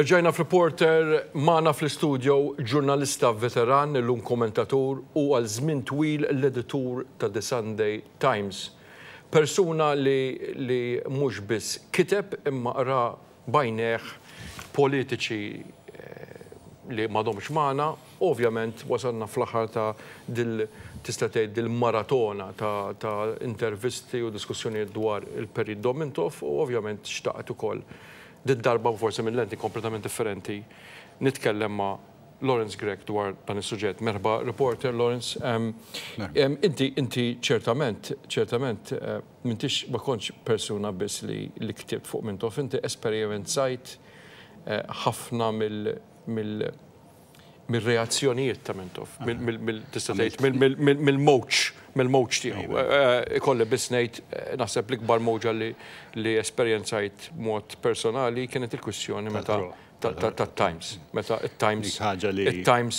Erġajna f'Reporter magħna fl-istudio ġurnalista veteran, illum kommentatur u għal żmien twil l-editur ta' The Sunday Times. Persuna li li mhux biss kiteb imma ra b'għajnejh politiċi li m'għadhomx magħna. Ovvjament wasalna fl-aħħar ta' dil tista' tgħid dil-maratona ta' ta' intervisti u diskussjonijiet dwar il-Perit Dom Mintoff u ovvjament xtaqt ukoll did-darba u forsi minn lenti kompletament differenti nitkellem ma' Lawrence Grech dwar dan is-suġġett. Merħba reporter Lawrence. Inti inti ċertament ċertament m'intix ma kontx persuna biss li li ktibt fuq Mintoff, inti esperjenzajt ħafna mill mill mir-reazzjonijiet ta' Mintoff, tista' tgħid mill-mowġ, mill-mowġ tiegħu. Ikolli biss ngħid naħseb l-ikbar mowġa li esperjenzajt b'mod personali kienet il-kwistjoni meta tat-Times, meta t-Times, it-Times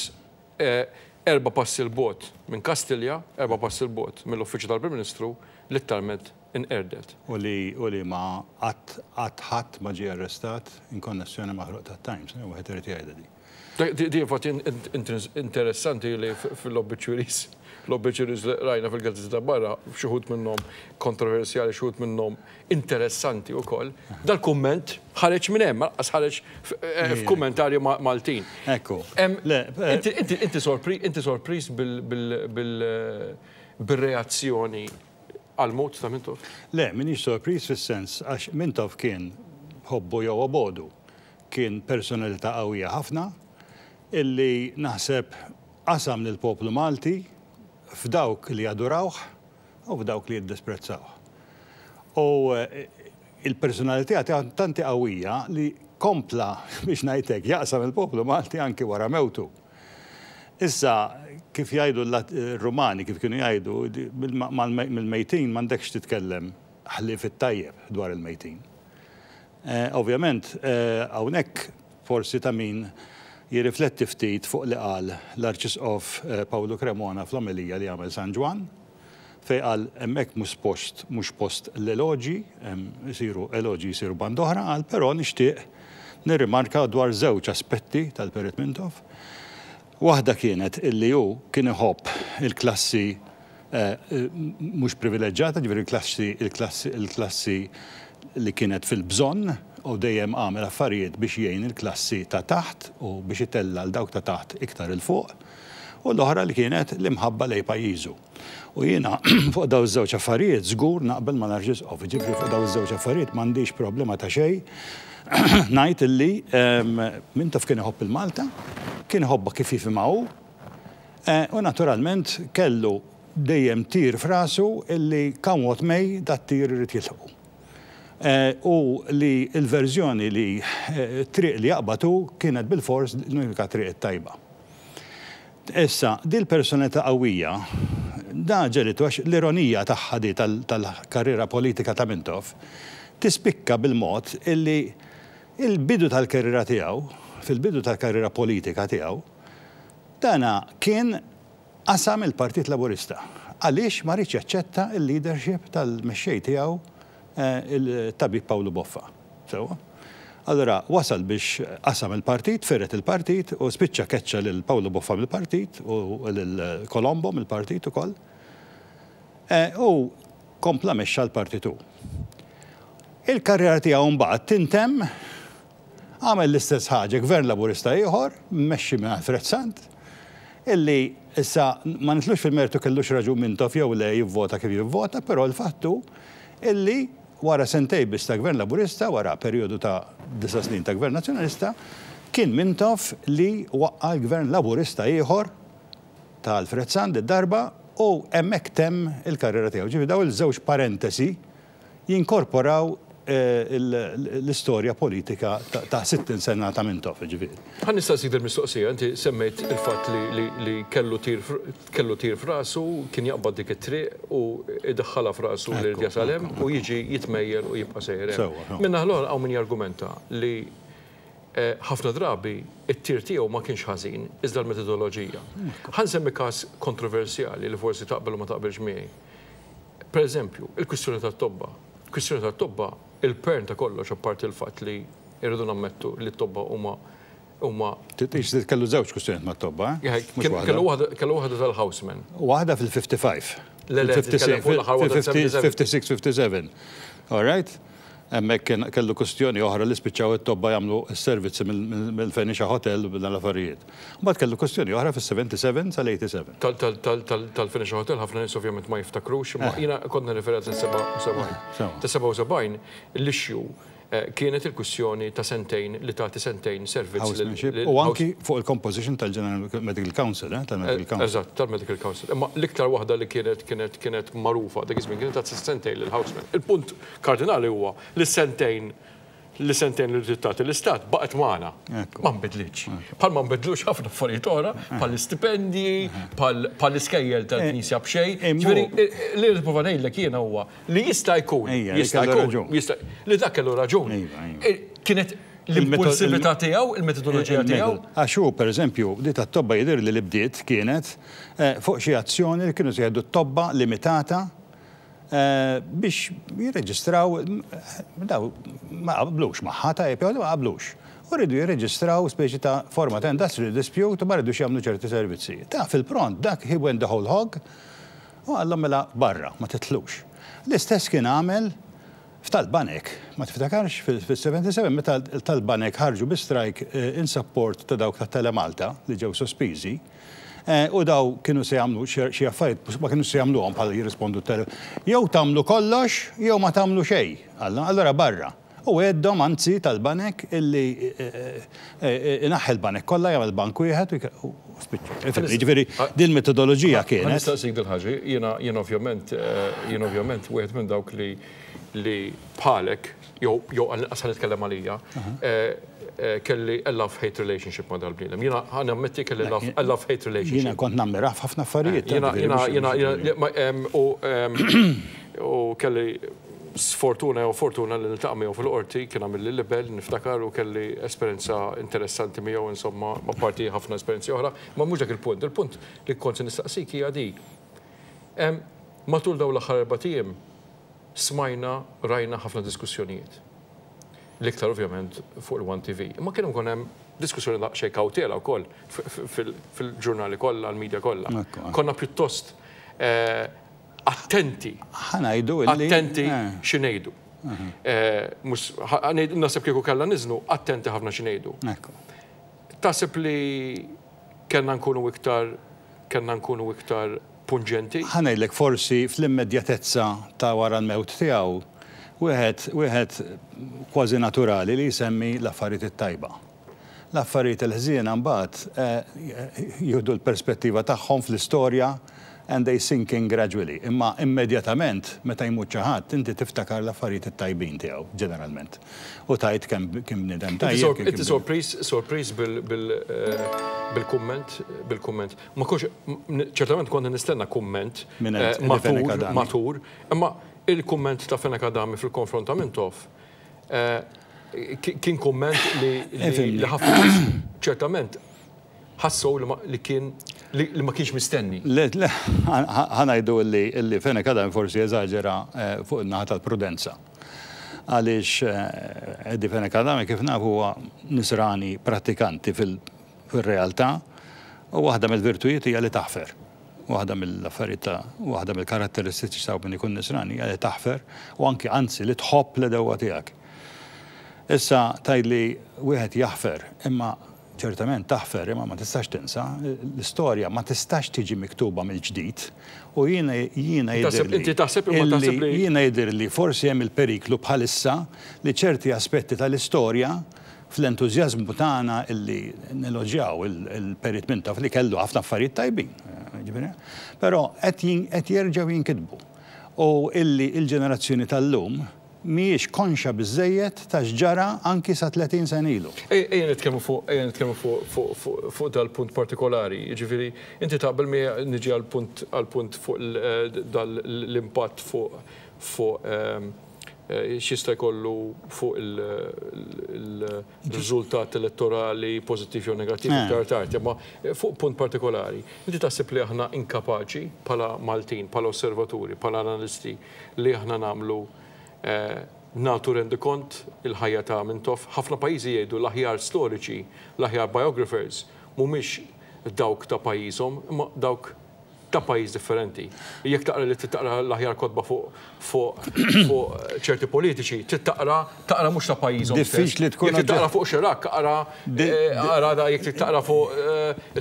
erba' passi 'l bogħod minn Kastilja, erba' passi 'l bogħod mill-Uffiċċju tal-Prim Ministru, litteralment inqerdet. U li u li ma qatt qatt ħadd ma ġie arrestat in konnessjoni ma' ħruq tat-Times, wieħed irid jgħidha din. Di infatti interessanti li fil-obituaries, l-obituaries li rajna fil-gazzetti ta' barra, xi wħud minnhom kontroversjali, xi wħud minnhom interessanti wkoll, dal-kumment ħareġ minn hemm, lanqas ħareġ f'kummentarji Maltin. Ekku. Inti sorpriż bil-reazzjoni għall-mewt ta' Mintoff? Le, m'iniex sorpriż fis-sens għax Mintoff kien, ħobbu jew obogħdu, kien personalità qawwija ħafna illi naħseb qasam lill-poplu Malti f'dawk li jadurawh u f'dawk li jiddisprezzawh. U il-personalità tiegħu tant hi qawwija li kompla, biex ngħid hekk, jaqsam il-poplu Malti anki wara mewtu. Issa, kif jgħidu r-Rumani, kif kienu jgħidu, mill-mejtin m'għandekx titkellem ħlief it-tajjeb dwar il-mejtin. Ovvjament, hawnhekk forsi ta' min jirrifletti ftit fuq li qal l-Arċisqof Pawlu Cremona fl-omelija li għamel San Ġwann, fejn qal hemmhekk mhux post mhux post l-eloġji, hemm isiru eloġji jsiru band'oħra, qal però nixtieq nirrimarka dwar żewġ aspetti tal-Perit Mintoff. Waħda kienet illi hu kien iħobb il-klassi mhux privileġġata, ġifieri l-klassi il-klassi il-klassi li kienet fil-bżonn u dejjem għamel affarijiet biex jgħin il-klassi ta' taħt u biex itella' 'l dawk ta' taħt iktar 'il fuq. U l-oħra li kienet l-imħabba lejn pajjiżu. U jiena fuq dawn iż-żewġ affarijiet żgur naqbel mal-Arċisqof, jiġifieri fuq dawn iż-żewġ affarijiet m'għandix problema ta' xejn ngħid illi Mintoff kien iħobb il-Malta, kien iħobbha kif jifhimha hu, u naturalment kellu dejjem tir f'rasu illi come what may dat-tir irid jilħqu. U li l-verżjoni li t-triq li jaqbad hu kienet bilfors l-unika triq it-tajba. Issa, dil-personalità qawwija, da ġegħlitu għax l-ironija tagħha di tal-karriera politika ta' Mintoff tispikka bil-mod illi il-bidu tal-karriera tiegħu, fil-bidu tal-karriera politika tiegħu, dana kien qasam il-Partit Laburista għaliex ma riedx jaċċetta l-leadership tal-mexxej tiegħu il-Tabib Pawlu Boffa. Sewwa? Allura wasal biex qasam il-partit, firet il-partit u spiċċa keċċa lil Pawlu Boffa mill-partit u lil Colombo mill-partit ukoll. U kompla mexxa l-partit hu. Il-karriera tiegħu mbagħad tintemm għamel l-istess ħaġa gvern Laburista ieħor, mmexxi minn Alfred Sant, illi issa ma nidħlux fil-mertu kellux raġun Mintoff jew le jivvota kif jivvota, però l-fatt hu illi Wara sentejn biss ta' Gvern Laburista, wara perjodu ta' disa' snin ta' Gvern Nazzjonalista, kien Mintoff li waqqa' l-Gvern Laburista ieħor ta' Alfred Sant did-darba u hemmhekk temm il-karriera tiegħu. Ġifieri dawn iż-żewġ parentesi jinkorporaw l-istorja politika ta' 60 sena ta' Mintoff, ġifieri. Ħa nistaqsik dil-mistoqsija, inti semmejt il-fatt li kellu tir Kellu tir f'rasu, kien jaqbad dik it-triq u jdaħħalha f'rasu li jrid jasal hemm u jiġi jitmejjel u jibqa' sejjer hemm. Min-naħa l-oħra hawn min jargumenta li ħafna drabi t-tir tiegħu ma kienx ħażin iżda l-metodoloġija. Ħa nsemmi każ kontroversjali li forsi taqbel u ma taqbilx miegħi. Pereżempju, il-kwistjoni tat-tobba. Kwistjoni tat-tobba, il-pern ta' kollox apparti l-fatt li. Irridu nammettu li t-tobba huma huma. Tgħix kellu żewġ kwistjonijiet mat-tobba, eh? Kellu waħda kellu waħda tal-houseman. Waħda fil-55. Le, le, titkellem fuq l-aħħar waħda 56, 57. All right? Hemmhekk kellu kwistjoni oħra li spiċċaw it-tobba jagħmlu s-servizzi mill-Phoenicia Hotel u dan l-affarijiet. Mbagħad kellu kwistjoni oħra fis-77 sal-87. Tal-Phoenicia Hotel ħafna nies ovvjament ma jiftakrux, imma jiena kont nirreferi għal 77. Ta' 77 l-issue kienet il-kwistjoni ta' sentejn li tagħti sentejn servizz. U anki fuq il-composition tal-General Medical Council, tal-Medical Council. Eżatt, tal-Medical Council. Imma l-iktar waħda li kienet kienet kienet magħrufa dak iż-żmien kienet ta' sentejn lill-houseman. Il-punt kardinali huwa li sentejn li sentejn li trid tagħti l-istat baqgħet magħna. Ma nbidlitx. Bħal ma nbidlux ħafna affarijiet oħra, bħal istipendji, bħal iskejjel tal-Knisja b'xejn. Ġifieri li nipprova ngħidlek jiena huwa li jista' jkun, jista' jkun, li dak kellu raġun. Kienet l-impulsività tiegħu, il-metodoloġija tiegħu. Għax hu, pereżempju, di tat-tobba jidhirli li bdiet kienet fuq xi azzjoni li kienu se jieħdu t-tobba limitata biex jirreġistraw, daw ma qablux magħha, tajjeb jew le ma qablux. U riedu jirreġistraw speċi ta' forma ta' industrial dispute u ma ridux jagħmlu ċerti servizzi. Ta' fil-pront dak he went the whole hog u qallhom mela barra, ma tidħlux. L-istess kien għamel f'tal-banek, ma tiftakarx fis-77 meta tal-banek ħarġu bi strike in support ta' dawk ta' Telemalta li ġew sospiżi. U daw kienu se jagħmlu xi affarijiet ma kienux se jagħmluhom bħala jirrispondu t Jew tagħmlu kollox jew ma tagħmlu xejn. Allura barra. U għeddhom anzi tal-banek illi inaħħi l-banek kollha jagħmel bank wieħed u spiċċa. Jiġifieri din metodoloġija kienet. Ħa nistaqsik dil-ħaġa, jiena jiena ovvjament jiena ovvjament wieħed minn dawk li li bħalek jew jew għall-inqas ħa nitkellem għalija, kelli a love-hate relationship ma' dal-bniedem. Jiena ħa nammetti kelli a love-hate relationship. Jiena kont nammirah f'ħafna affarijiet. Jiena jiena jiena jiena u u kelli sfortuna jew fortuna li niltaqa' miegħu fil-qorti, kien għamilli libel, niftakar, u kelli esperjenza interessanti miegħu, insomma, apparti ħafna esperjenzi oħra, ma mhux dak il-punt. Il-punt li kont se nistaqsik hija di. Matul dawn l-aħħar erbat ijiem smajna, rajna ħafna diskussjonijiet. L-iktar ovvjament fuq il-One TV. Imma kien ukoll hemm diskussjoni daqsxejn kawtela wkoll fil-ġurnali kollha, l-media kollha. Konna pjuttost attenti. Ħa ngħidu illi. Attenti xi ngħidu. Naħseb kieku kellna niżnu attenti ħafna xi ngħidu. Taħseb li kellna nkunu iktar kellna nkunu iktar punġenti? Ħa ngħidlek forsi fl-immedjatezza ta' wara l-mewt tiegħu wieħed wieħed kważi naturali li jsemmi l-affarijiet it-tajba. L-affarijiet il-ħżiena mbagħad jieħdu l-perspettiva tagħhom fl-istorja and they sink in gradually. Imma immedjatament meta jmut xi ħadd inti tiftakar l-affarijiet it-tajbin tiegħu ġeneralment. U tgħid kemm kien bniedem tajjeb. Inti sorpriż sorpriż bil-kumment bil-kumment. Ma kontx ċertament kont nistenna kumment matur matur, imma il-kumment ta' Fenech Adami fil-konfront ta' Mintoff kien kumment li ħafna nies ċertament ħassew li kien li ma kienx mistenni. Le, le, ħa ngħidu li Fenech Adami forsi eżaġera fuq in-naħa tal-prudenza. Għaliex Eddie Fenech Adami kif nafu huwa nisrani prattikanti fil-realtà u waħda mill-virtujiet hija li taħfer. Waħda mill-affarijiet ta' waħda mill-karatteristiċi ta' min ikun nisrani hija li taħfer u anki anzi li tħobb l-għedewwa tiegħek. Issa tgħidli wieħed jaħfer imma ċertament taħfer imma ma tistax tinsa, l-istorja ma tistax tiġi miktuba mill-ġdid u jiena jiena jidhirli Inti taħseb imma taħseb li jiena jidhirli forsi hemm il-periklu bħalissa li ċerti aspetti tal-istorja fl-entużjażmu tagħna illi neloġjaw il-Perit Mintoff li kellu ħafna affarijiet tajbin, jiġifieri, però qed jerġgħu jinkitbu u illi l-ġenerazzjoni tal-lum mhijiex konxja biżżejjed ta' x'ġara anki sa 30 sena ilu. Ejja nitkellmu fuq ejja nitkellmu fuq fuq dal-punt partikolari, jiġifieri inti taqbel miegħi niġi għall-punt għall-punt fuq l-impatt fuq fuq x'jista' jkollu fuq il-riżultat elettorali pożittiv jew negattiv iktar tard, imma fuq punt partikolari, inti taħseb li aħna inkapaċi bħala Maltin, bħala osservaturi, bħala analisti li aħna nagħmlu nagħtu rendikont il-ħajja ta' Mintoff. Ħafna pajjiżi jgħidu l-aħjar storiċi, l-aħjar biographers mhumiex dawk ta' pajjiżhom imma dawk ta' pajjiż differenti. Jekk taqra li trid taqra l-aħjar kotba fuq fuq fuq ċerti politiċi, trid taqra taqra mhux ta' pajjiżhom stess. Diffiċli tkun Jekk trid taqra fuq Chirac, aqra aqra da jekk trid taqra fuq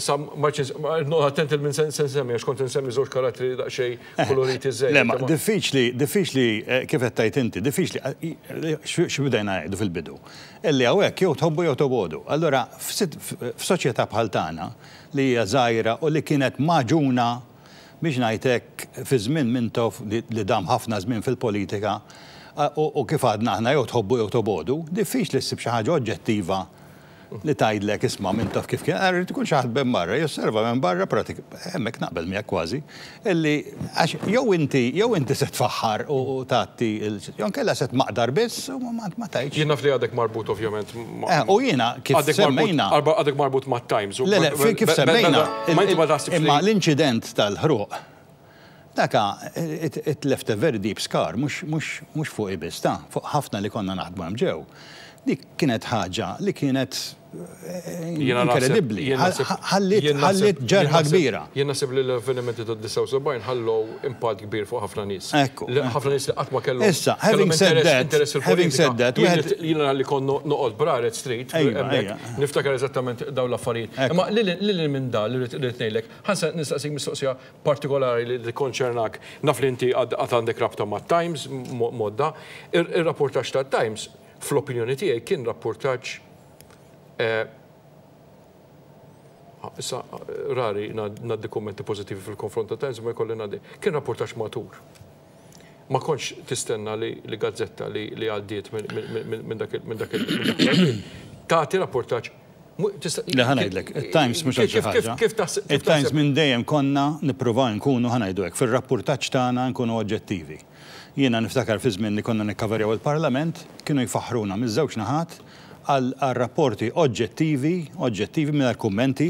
issa ma rridx noqgħod attent il min se nsemmi għax kont insemmi żewġ karattri daqsxejn koloriti żejjed. Le, ma diffiċli, diffiċli kif qed tgħid inti, diffiċli x'bdejna ngħidu fil-bidu. Illi hawnhekk jew tħobbu jew tobogħdu. Allura f'soċjetà bħal tagħna li hija żgħira u li kienet magħġuna, biex ngħid hekk, fi żmien Mintoff li dam ħafna żmien fil-politika, u kif għadna aħna jew tħobbu jew tobogħdu, diffiċli ssib xi ħaġa oġġettiva li tgħidlek isma' Mintoff kif kien, irid ikun xi ħadd minn barra, josserva minn barra pratik, hemmhekk naqbel miegħek kważi, illi għax jew inti jew inti se tfaħħar u tgħatti jew inkella se tmaqdar biss u ma tgħidx. Jien naf li għadek marbut ovvjament ma' Eh, u jiena kif semmejna. Għadek marbut mat-Times. Le, le, kif semmejna. Ma inti ma taħsibx li. Imma l-inċident tal-ħruq, daka it left a very deep scar, mhux fuqi biss, ta, fuq ħafna li konna naħdmu hemm ġew. Dik kienet ħaġa li kienet inkredibbli. Ħalliet ġerħa kbira. Jien naħseb li l-avvenimenti tad-79 ħallew impatt kbir fuq ħafna nies. Ekku. Ħafna nies li qatt ma kellhom. Issa, having said that, having said that, jiena li kont noqgħod Braret Street, niftakar eżattament dawn l-affarijiet. Imma lil minn dan li rrid ngħidlek, ħa nistaqsik mistoqsija partikolari li tikkonċernak. Naf li inti għad għandek rabta mat-Times, modda. Ir-rapportaġġ tat-Times Fl-opinjoni tiegħi kien rappurtaġġ issa rari ngħaddi kummenti pożittivi fil-konfront ta' Times imma jkolli ngħaddi. Kien rappurtaġġ matur. Ma kontx tistenna li gazzetta li għaddiet minn dak il tagħti rappurtaġġ Le ħa ngħidlek, it-Times mhux għal xi ħaġa. It-Times minn dejjem konna nippruvaw nkunu ħa ngħidu hekk, fir-rappurtaġġ tagħna nkunu oġġettivi. Jiena niftakar fi żmien li konna nikkaverjaw il-Parlament, kienu jfaħħruna miż-żewġ naħat għal rapporti oġġettivi, oġġettivi mingħajr kummenti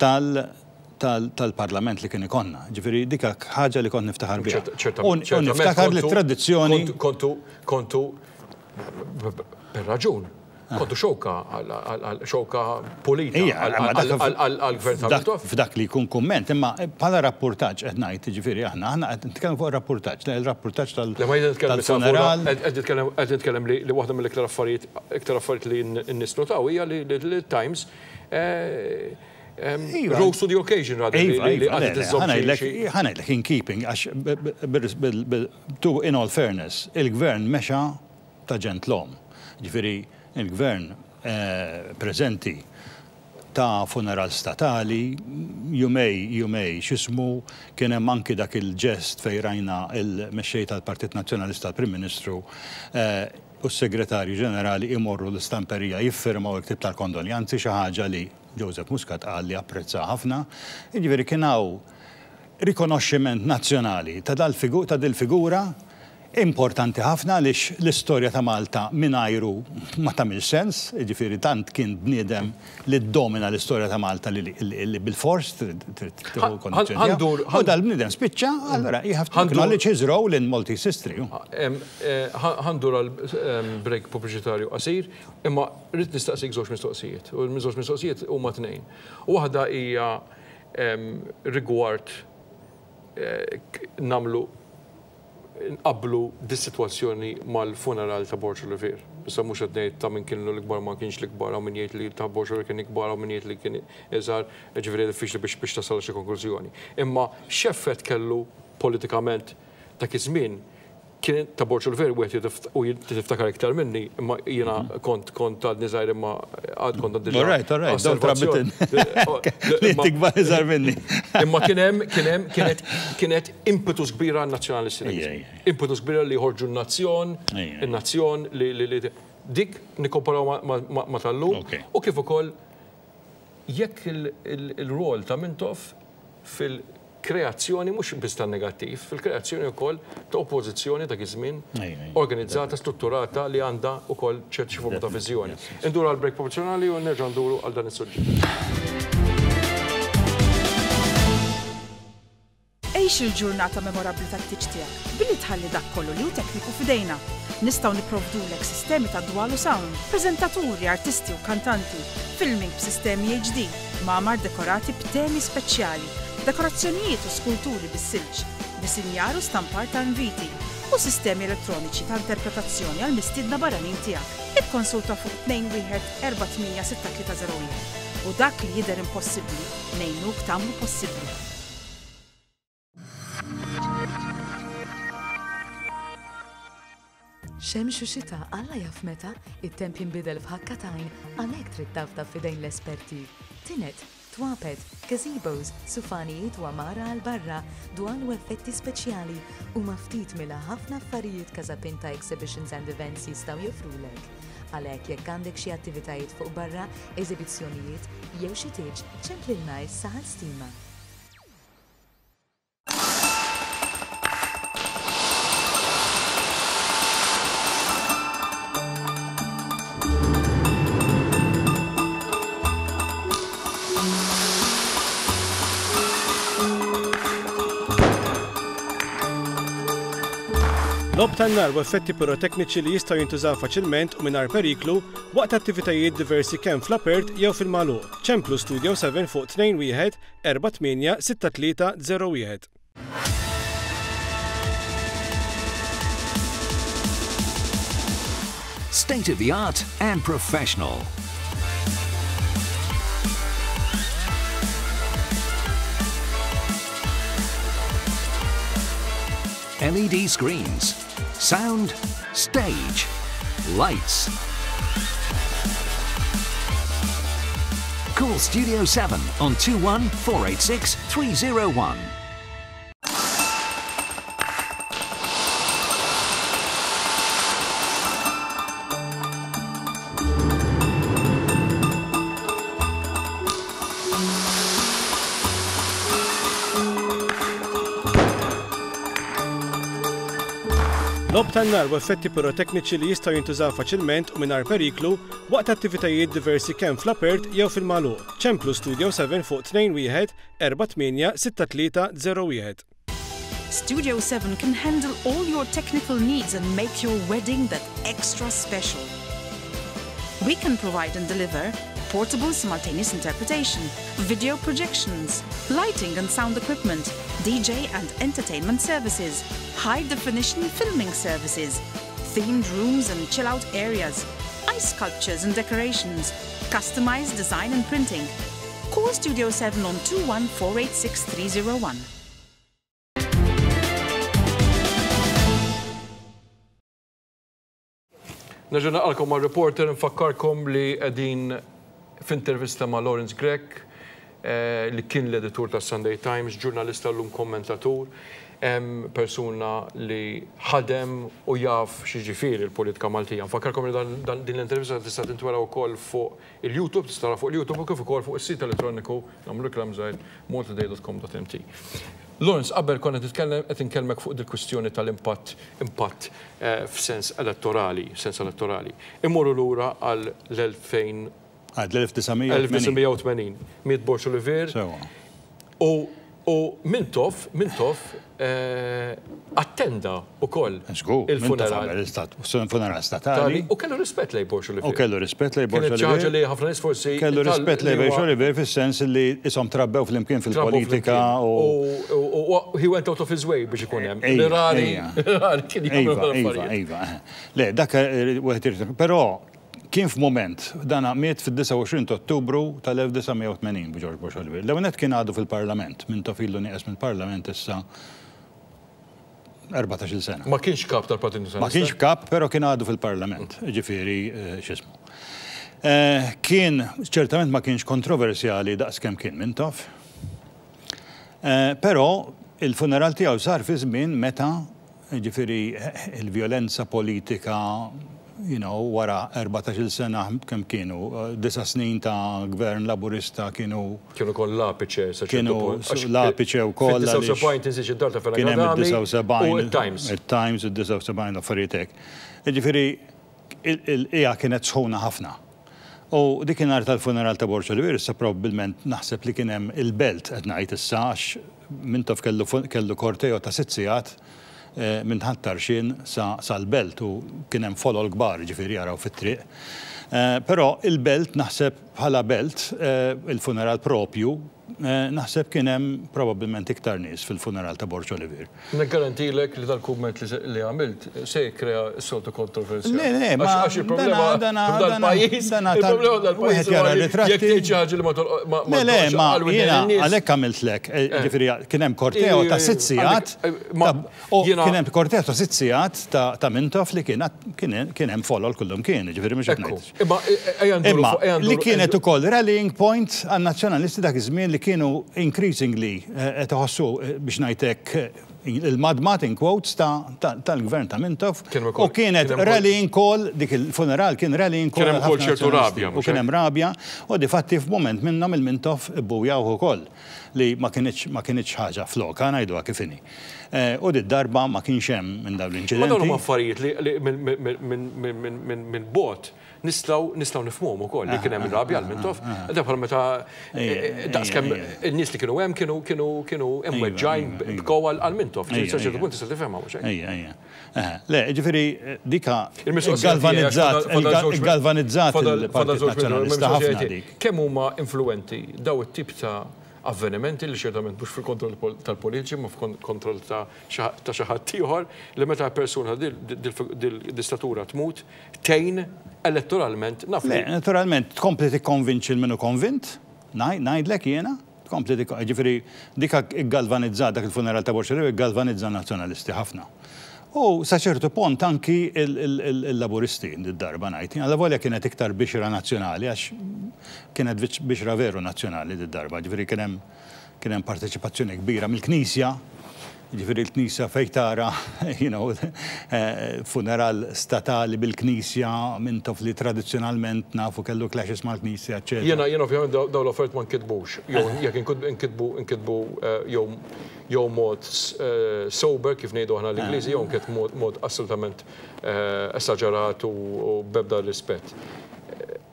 tal tal-Parlament li kien ikollna. Ġifieri dik ħaġa li kont niftaħar biha. U niftakar li t-tradizzjoni. Kontu, kontu, bir-raġun, Kontu xewka għal xewka pulita għall-gvern ta' Mintoff. F'dak li jkun kumment, imma bħala rappurtaġġ qed ngħid, jiġifieri aħna aħna qed nitkellmu fuq ir-rappurtaġġ, il-rappurtaġġ tal-funeral. Qed nitkellem qed nitkellem li waħda mill-iktar affarijiet iktar affarijiet li n-nies notaw hija li l-Times rose to the occasion rather li qagħdet iżżomm xi. Ħa ngħidlek in keeping għax in all fairness il-gvern mexa ta' ġentlom. Jiġifieri l-Gvern preżenti ta funeral statali, jumej, jumej, x'ismu, kien hemm anki dak il-ġest fejn rajna l-Mexxej tal-Partit Nazzjonalista, l-Prim Ministru, u s-Segretarju Ġenerali imorru l-istamperija jiffirmaw il-ktieb tal-kondoljanzi, xi ħaġa li Joseph Muscat qal li apprezza ħafna. Jiġifieri kien hawn rikonoxximent nazzjonali ta' dil-figura Importanti ħafna għaliex l-istorja ta' Malta mingħajru ma tagħmilx sens, jiġifieri tant kien bniedem li ddomina l-istorja ta' Malta li bilfors trid tieħu kondizzjoni tiegħu. U dal-bniedem spiċċa, allura you have to acknowledge his role in Maltese history. Ħa ndur għal break pubbliċitarju qasir, imma rrid nistaqsik żewġ mistoqsijiet. U l-żewġ mistoqsijiet huma tnejn. Waħda hija rigward nagħmlu nqabblu dis-sitwazzjoni mal-funeral ta' Borg Olivier. Issa mhux qed ngħid ta' min kien l-ikbar ma kienx l-ikbar, hawn min jgħid li ta' Borg Olivier kien ikbar, hawn min jgħid li kien iżgħar, jiġifieri diffiċli biex biex tasal għal xi konklużjoni. Imma x'effett kellu politikament dak iż-żmien kien ta' Borg Olivier wieħed u inti tiftakar iktar minni, imma jiena kont kont għadni żgħir imma għad kont għandi All right, all right, don't rub it in. Li tikbar iżgħar minni. Imma kien hemm kien hemm kienet kienet impetus kbir għan-nazzjonalisti dak iż-żmien. Impetus kbir li joħorġu n-nazzjon, in-nazzjon li dik nikkomparaw ma' tal-lum u kif ukoll jekk il-rwol ta' Mintoff fil-kreazzjoni mhux biss tan-negattiv, fil-kreazzjoni wkoll ta' oppożizzjoni dak iż-żmien organizzata, strutturata li għandha wkoll ċerti xi forma ta' viżjoni. Induru għal break professjonali u nerġgħu nduru għal dan is-suġġett. Għix il-ġurnata memorabbli tat-tieġ tiegħek billi tħalli dak kollu li hu tekniku f'idejna. Nistgħu nipprovdulek sistemi ta' dwal u sound, preżentaturi, artisti u kantanti, filming b'sistemi HD, kmamar dekorati b'temi speċjali, dekorazzjonijiet u skulturi bis-silġ, disinjar u stampar ta' inviti, u sistemi elettroniċi ta' interpretazzjoni għall-mistiedna barranin tiegħek. Ikkonsulta fuq 21 48 6301 u dak li jidher impossibbli ngħinuk tagħmlu possibbli. Xemx u xita, Alla jaf meta, it-temp jinbidel f'ħakka t'għajn, għalhekk trid tafda f'idejn l-esperti. Tined, twapet, gazebos, sufanijiet u għamara għal barra, dwal u effetti speċjali huma ftit mila ħafna affarijiet Casapinta Exhibitions and Events jistgħu joffrulek. Għalhekk jekk għandek xi attivitajiet fuq barra, eżibizzjonijiet, jew xi tieġ, ċemplilna issa għal stima. Logħob tan-nar u effetti pirotekniċi li jistgħu jintużaw faċilment u mingħajr periklu waqt attivitajiet diversi kemm fl-apert jew fil-magħluq. Ċemplu Studio 7 fuq 21 486301. State of the art and professional. LED screens, sound, stage, lights. Call Studio 7 on 21 486 301. Logħob tan-nar u effetti pirotekniċi li jistgħu jintużaw faċilment u mingħajr periklu waqt attivitajiet diversi kemm fl-apert jew fil-magħluq. Ċemplu Studio 7 fuq 21 48 6301. Studio 7 can handle all your technical needs and make your wedding that extra special. We can provide and deliver portable simultaneous interpretation, video projections, lighting and sound equipment, DJ and entertainment services, high definition filming services, themed rooms and chill out areas, ice sculptures and decorations, customized design and printing. Call Studio 7 on 21486 Nerġa' naqalkom ma' reporter nfakkarkom li qegħdin f'intervista ma' Lawrence Grech eh, li kien l-editur tas Sunday Times, ġurnalista llum kommentatur, persuna li ħadem u jaf x'jiġifieri l-politika Maltija. Nfakkarkom li din l-intervista tista' tintwera wkoll fuq il-YouTube, tista' tara fuq il-YouTube u kif ukoll fuq is-sit elettroniku nagħmlu reklam żgħir maltatoday.com.mt. Lawrence, qabel konna titkellem qed inkellmek fuq dil-kwistjoni tal-impatt impatt eh, f'sens elettorali, sens elettorali. Immorru lura għal l-2000 Għad l-1980. 1980. Miet Borg Olivier. U U Mintoff, Mintoff eh, attenda ukoll il-funeral. Funeral statali. U kellu rispett lejn Borg Olivier. U kellu rispett lejn Borg Olivier. Kienet li ħafna nies forsi. Kellu rispett lejn Borg Olivier fis-sens li isom trabbew flimkien fil-politika u. He went out of his way biex ikun hemm. Li rari, rari kien jagħmel iva, iva, iva. Le, dak eh, wieħed irid. Però kien f'mument, dan miet fid-29 ta' Ottubru tal-1980 George Borg Olivier. L-ewwel kien għadu fil-Parlament, Mintoff ilu nieqes mill-Parlament issa 14-il sena. Ma kienx kap tal-Partit Nazzjonalista. Ma kienx kap, però kien għadu fil-Parlament, ġifieri eh, x'ismu. Eh, kien, ċertament ma kienx kontroversjali daqs kemm kien Mintoff. Eh, però il-funeral tiegħu sar fi żmien meta Jiġifieri il-vjolenza politika, you know, wara 14-il sena kemm kienu, disa' snin ta' gvern Laburista kienu. Kienu koll l-apiċe sa ċertu punt. Kienu l-apiċe wkoll. Fid-79 tinsiex id-dar ta' Fenech Adami. Kien hemm id-79. U t-Times. It-Times, id-79 l-affarijiet hekk. Jiġifieri il-qiegħa kienet sħuna ħafna. U dik inhar tal-funeral ta' Borg Olivier issa probabbilment naħseb li kien hemm il-Belt qed ngħid issa għax Mintoff kellu kellu korteo ta' sitt sigħat. minn Ħal Tarxien sa sal-Belt u kien hemm folol kbar jiġifieri jaraw fit-triq. Però il-Belt naħseb bħala belt, il-funeral propju, naħseb kien hemm probabbilment iktar nies fil-funeral ta' Borg Olivier. Niggarantilek li dal-kumment li għamilt se jikkrea s-soltu kontroversja. Le, le, ma. Għax il-problema f'dal-pajjiż, il-problema f'dal-pajjiż huwa li jekk tgħid xi ħaġa li ma tolqotx. Le, le, ma jiena għalhekk għamiltlek, jiġifieri kien hemm korteo ta' sitt sigħat, kien hemm korteo ta' sitt sigħat ta' Mintoff li kien kien hemm folol kullumkien, jiġifieri mhux qed ngħid. Imma li kienet ukoll rallying point għan-Nazzjonalisti dak iż-żmien li kienu increasingly qed iħossu, biex ngħid hekk, il-madmad in quotes tal-gvern ta' Mintoff u kienet rallying call, dik il-funeral kien rallying call. Kien hemm ukoll ċertu rabja. U kien hemm rabja u difatti f'mument minnhom il-Mintoff ibbujawh ukoll li ma kinitx ma kinitx ħaġa flokha ngħiduha kif inhi. U did-darba ma kienx hemm minn dawn l-inċidenti. Ma dawn huma affarijiet li minn bogħod nistgħu nistgħu nifhmuhom ukoll li kien hemm rabja għal Mintoff. Da bħal meta daqskemm in-nies li kienu hemm kienu kienu kienu imweġġgħin bkow għal Mintoff. Sa ċertu punt tista' tifhemha mhux hekk? Ejja, ejja. Le, jiġifieri dika galvanizzat galvanizzat il-Partit Nazzjonalista ħafna dik. Kemm huma influwenti daw it-tip ta' avvenimenti li ċertament mhux fil-kontroll tal-politiċi imma fil-kontroll ta' xi ħadd ieħor li meta persuna dil-istatura tmut tgħin elettoralment naf li. Le, naturalment tkompli tikkonvinċi 'l min hu konvint, ngħidlek jiena, tkompli jiġifieri dik iggalvanizzat dak il-funeral ta' Borg Olivier iggalvanizza n-Nazzjonalisti ħafna. U sa ċertu pont anki l-Laburisti did-darba ngħid. Allavolja kienet iktar bixra nazzjonali għax kienet bixra veru nazzjonali did-darba, ġifieri kien hemm kien hemm parteċipazzjoni kbira mill-Knisja, ġifieri l-Knisja fejn tara you know, funeral statali bil-Knisja Mintoff li tradizzjonalment nafu kellu clashes mal-Knisja, eċċetera. Jiena jiena ovvjament dawn l-affarijiet ma nkitbux, jew jekk inkitbu inkitbu jew jew mod sober kif ngħidu aħna l-Ingliżi jew anke mod assolutament esaġerat u b'ebda rispett.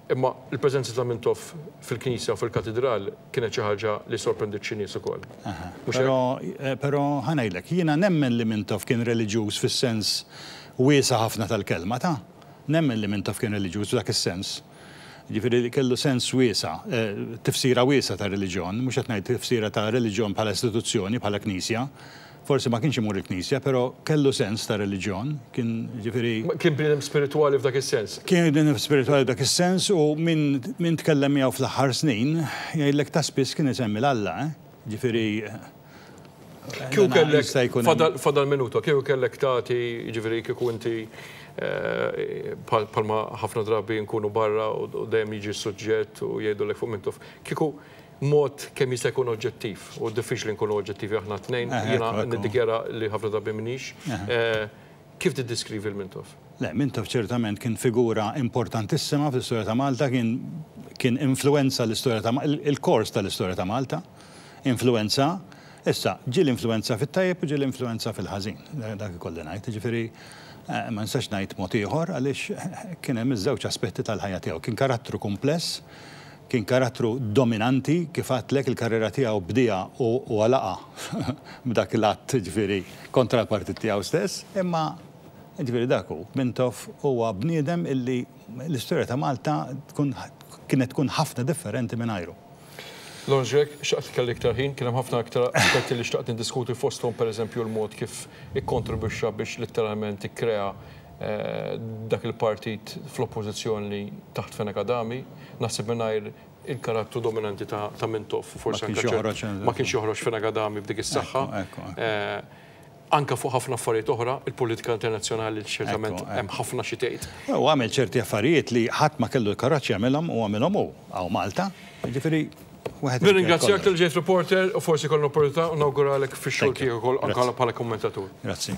Imma l-preżenza ta' Mintoff fil-knisja u fil-katidral kienet xi ħaġa li sorprendiet xi nies ukoll. Mhux hekk? Però ħa ngħidlek, jiena nemmen li Mintoff kien reliġjuż fis-sens wiesa' ħafna tal-kelma, ta'. Nemmen li Mintoff kien reliġjuż f'dak is-sens. Jiġifieri li kellu sens wiesa', tifsira wiesgħa ta' reliġjon, mhux qed ngħid tifsira ta' reliġjon bħala istituzzjoni, bħala knisja. Forsi ma kienx imur il-knisja, però kellu sens ta' reliġjon, kien jiġifieri. Kien bniedem spiritwali f'dak is-sens. Kien bniedem spiritwali f'dak is-sens u min min tkellem miegħu fl-aħħar snin jgħidlek ta' spiss kien isemmi 'l Alla, eh. Jiġifieri. Kieku kellek, fadal, fadal minuta, kieku kellek tagħti, jiġifieri kieku inti bħalma ħafna drabi nkunu barra u dejjem jiġi s-suġġett u jgħidulek fuq Mintoff, kieku mod kemm jista' jkun oġġettiv, u diffiċli nkunu oġġettivi aħna t-tnejn, jiena niddikjara li ħafna drabi m'iniex, kif tiddeskrivi 'l Mintoff? Le, Mintoff ċertament kien figura importantissima fl-istorja ta' Malta, kien kien influwenza l-istorja ta' il-kors tal-istorja ta' Malta. Influwenza, issa, ġieli influwenza fit-tajjeb u ġieli influwenza fil-ħażin. Dak ikolli ngħid. Jiġifieri, ma nistax ngħid mod ieħor għaliex kien hemm iż-żewġ aspetti tal-ħajja tiegħu. Kien karattru kumpless, kien karattru dominanti, kif għedtlek il-karriera tiegħu bdieha u għalaqha b'dak l-att, jiġifieri, kontra l-partit tiegħu stess, imma jiġifieri dak hu. Mintoff huwa bniedem illi l-istorja ta' Malta tkun kienet tkun ħafna differenti mingħajru. Lawrence Grech, xtaqt li kelli iktar ħin, kien hemm ħafna iktar aspetti li xtaqt niddiskuti fosthom pereżempju l-mod kif ikkontribwixxa biex litteralment ikkrea dak il-partit fl-oppożizzjoni taħt Fenech Adami. Naħseb mingħajr il-karattru dominanti ta' Mintoff forsi anke ma kienx joħroġ Fenech Adami b'dik is-saħħa. Anke fuq ħafna affarijiet oħra, il-politika internazzjonali li ċertament hemm ħafna xi tgħid. U għamel ċerti affarijiet li ħadd ma kellu l-kuraġġ jagħmilhom u għamilhom hu hawn Malta. Jiġifieri wieħed. Nirringrazzjak talli ġejt reporter u forsi jkollna opportunità u nawguralek fix-xogħol tiegħek ukoll anke bħala kummentatur. Grazzi.